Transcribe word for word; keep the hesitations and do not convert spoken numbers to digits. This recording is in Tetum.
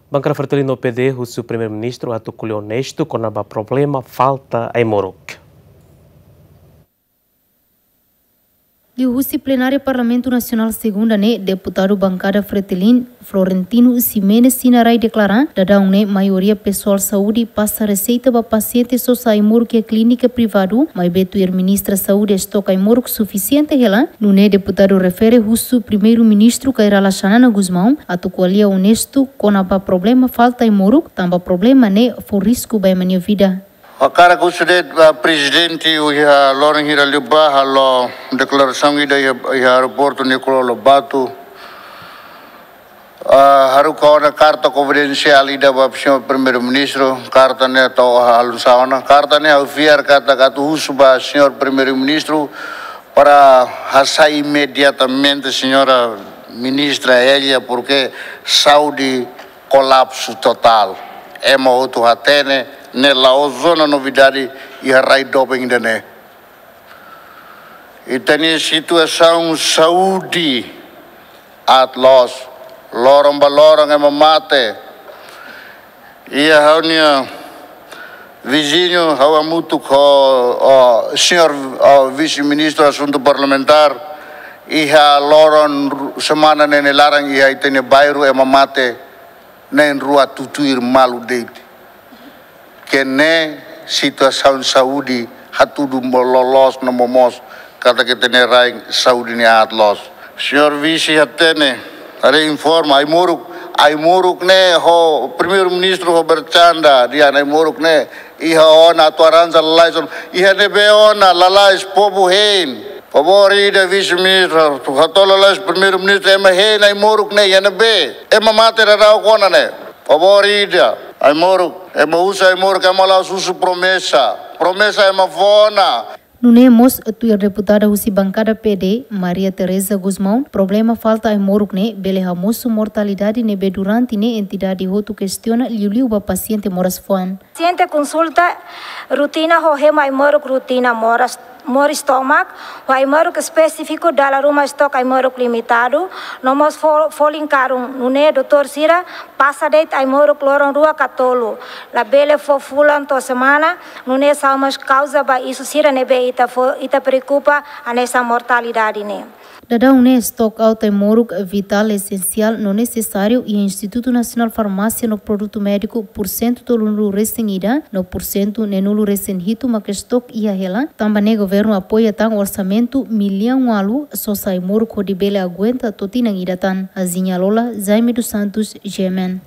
Bankada Fretilin no P D husu Primeiru-Ministru atu ko'alia onestu kona-ba problema falta ai-moruk. Liuhusi plenária Parlamentu Nasionál segunda ne'e, deputadu bankada Fretilin, Florentino Ximenes Sinarai deklara, daudaun ne'e maioria pesoál saúde pasa reseita ba pasiente sosa ai-moruk iha klínika privadu, maibé tuir ministra saúde estok ai-moruk sufisiente hela. Nune'e deputadu refere husu Primeiru-Ministru Kay Rala Xanana Gusmão atu ko'alia onestu kona-ba problema falta ai-moruk, tanba problema ne'e fó risku ba ema nia vida. Ha'u hakarak husu de'it ba prezidente, iha loron hirak liubá halo deklarasaun ida iha, iha aeroportu Nicolau Lobato. Ah, haruka ona karta konfidensiál ida ba señór Primeiru-Ministru, karta ne'e tau halo sa ona, karta ne'e ha'u fiar katak atu husu ba señór Primeiru-Ministru para hasai imediatamente señora ministra Elia, porke saúde kolapsu totál. Ema hotu hatene, ne'e la'ós zona novidade iha rai doben ida-ne'e. Ita-nia situasaun saúde aat loos, loron ba loron ema mate. Iha ha'u-nia viziñu, ha'u hamutuk ho, ho señór, ho vise-ministru asuntu parlamentár, iha loron ru-, semana ne'e nia laran iha ita-nia bairru ema mate na'in-rua tutuir malu de'it. Ke ne'e situasaun saúde hatudu mo-, loloos no momoos katak ita-nia rain saúde ne'e aat loos. Señór vise hatene, haree informa, ai-moruk, ai-moruk ne'e ho Primeiru-Ministru ho bercanda, dehan ai-moruk ne'e iha ona atu arranja lalais ona, iha ne'ebé ona, lalais povu hein. Favór ida vise-ministru, hato'o lalais Primeiru-Ministru, ema hein ai-moruk ne'e iha ne'ebé. Ema mate daudaun ona ne'e. Favór ida, ai-moruk, ema husu ai-moruk, ema la'ós husu promesa. Promesa ema fó ona. Nune'e mós tuir deputada husi bankada P D, Maria Teresa Gusmão, problema falta ai-moruk ne'e bele hamosu mortalidade ne'ebé durante ne'e entidade hotu kestiona liuliu ba pasiente moras-fuan. Pasiente konsulta rutina ho hemu ai-moruk rutina moras, moris tomak, ho ai-moruk espesífiku dala ruma estok ai-moruk limitadu, no mós fo-, folin karun, nune'e doutór sira pasa de'it ai-moruk loron rua ka tolu, labele fó fulan to'o semana, nune'e sai mós kauza ba isu sira ne'ebé ita fó, ita preokupa hanesan mortalidade ne'e. Daudaun ne'e stock out ai-moruk vitál, esensiál no nesesáriu iha Institutu Nasionál Farmásia no Produtu Médiku pursentu tolunulu-resin-ida no pursentu neenulu-resin-hitu mak stock iha hela, tanba ne'e governu apoia tan orsamentu millaun ualu sosa ai-moruk hodi bele aguenta to'o tinan ida tan. Aziña Lola, Jaime dos Santos, G M N.